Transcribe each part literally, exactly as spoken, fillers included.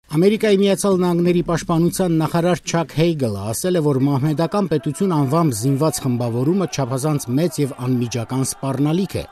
Ամերիկայի Միացյալ Նահանգների պաշտպանության նախարար Չակ Հեյգլը ասել է, որ մահմեդական պետություն անվամբ զինված խմբավորումը չափազանց մեծ եւ անմիջական սպառնալիք է։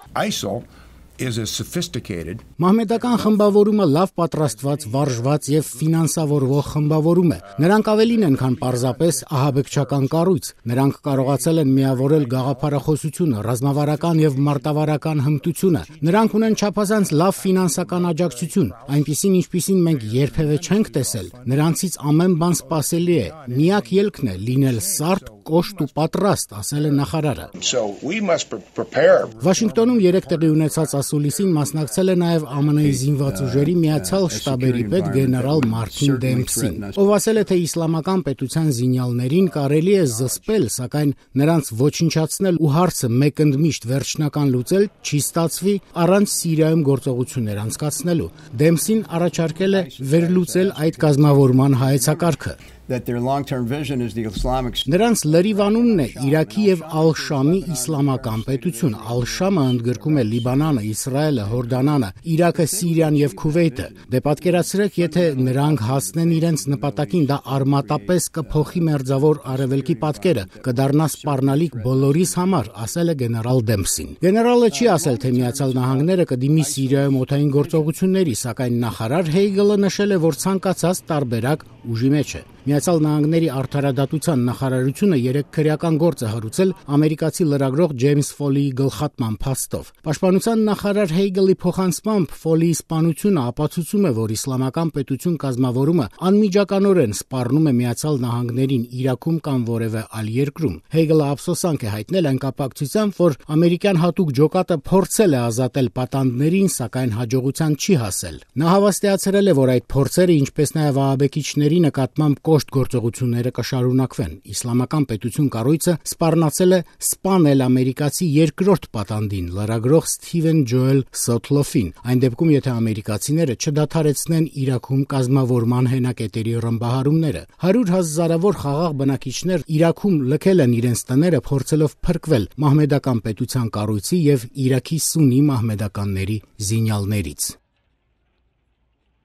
is a sophisticated Մահմեդական խմբավորումը լավ պատրաստված, վարժված եւ ֆինանսավորվող խմբավորում է։ Նրանք ավելին են, քան պարզապես ահաբեկչական կառույց։ Նրանք կարողացել են միավորել գաղափարախոսությունը, ռազմավարական եւ մարտավարական հմտությունը։ Նրանք ունեն չափազանց լավ ֆինանսական աջակցություն, այնպիսին, ինչպիսին մենք երբևէ չենք տեսել։ Նրանցից ամեն բան սպասելի է։ Միակ ելքն է լինել սարդ, կոշտ ու պատրաստ, ասել է նախարարը։ So we must prepare. Վաշինգտոնում երեք տեղի ունեցած ասուլիսին մասնակցել է նաև Ամն զինված ուժերի միացյալ շտաբերի պետ գեներալ Մարտին Դեմփսին, ով ասել է, թե իսլամական պետության զինյալներին կարելի է զսպել, սակայն նրանց ոչնչացնել ու հարցը մեկընդմիշտ վերջնական լուծել չի ստացվի առանց Սիրիայում գործողություններ անցկացնելու։ Դեմփսին առաջարկել է վերլուծել այդ կազմավորման հայեցակարգը։ That their long-term vision is the Islamic State. Նրանց լրիվանունն է Իրաքի եւ Ալ-Շամի իսլամական պետություն։ Ալ-Շամը ընդգրկում է Լիբանանը, Իսրայելը, Հորդանանը, Իրաքը, Սիրիան եւ Քուվեյթը։ Դե պատկերացրեք, եթե նրանք հասնեն իրենց նպատակին, դա արմատապես կփոխի մերձավոր արևելքի պատկերը, կդառնա սպառնալիք բոլորիս համար, ասել է գեներալ Դեմփսին։ Գեներալը չի ասել, թե Միացյալ Նահանգները կդիմի Սիրիայում օդային գործողությունների, սակայն նախարար Հեյգլը նշել է, որ ցանկացած տարբերակ ուժի մեջ է։ Միացյալ Նահանգների արդարադատության նախարարությունը երեք քրեական գործ է հարուցել ամերիկացի լրագրող Ջեյմս Ֆոլիի գլխատման փաստով։ Պաշտպանության նախարար Հեյգլի փոխանցմամբ Ֆոլիի սպանությունը ապացուցում է, որ իսլամական պետություն կազմավորումը անմիջականորեն սպառնում է Միացյալ Նահանգներին Իրաքում կամ որևէ այլ երկրում։ Հեյգլը ափսոսանք է հայտնել այն կապակցությամբ, որ ամերիկյան հատուկ ջոկատը փորձել է ազատել պատանդներին, սակայն հաջողության չի հասել։ Նա հավաստիացրել է, որ այդ փորձերը, ինչպես նաև ահաբեկիչների նկատմամբ կոշտ գործողությունները կշարունակվեն։ Իսլամական պետություն կառույցը սպառնացել է սպանել ամերիկացի երկրորդ պատանդին, լրագրող Սթիվեն Ջոել Սոթլոֆին, այն դեպքում, եթե ամերիկացիները չդադարեցնեն Իրաքում կազմավորման հենակետերի ռմբահարումները։ Հարյուր հազարավոր խաղաղ բնակիչներ Իրաքում լքել են իրենց տները, փորձելով փրկվել մահմեդական պետության կառույցի եւ Իրաքի սուննի մահմեդականների զինյալներից։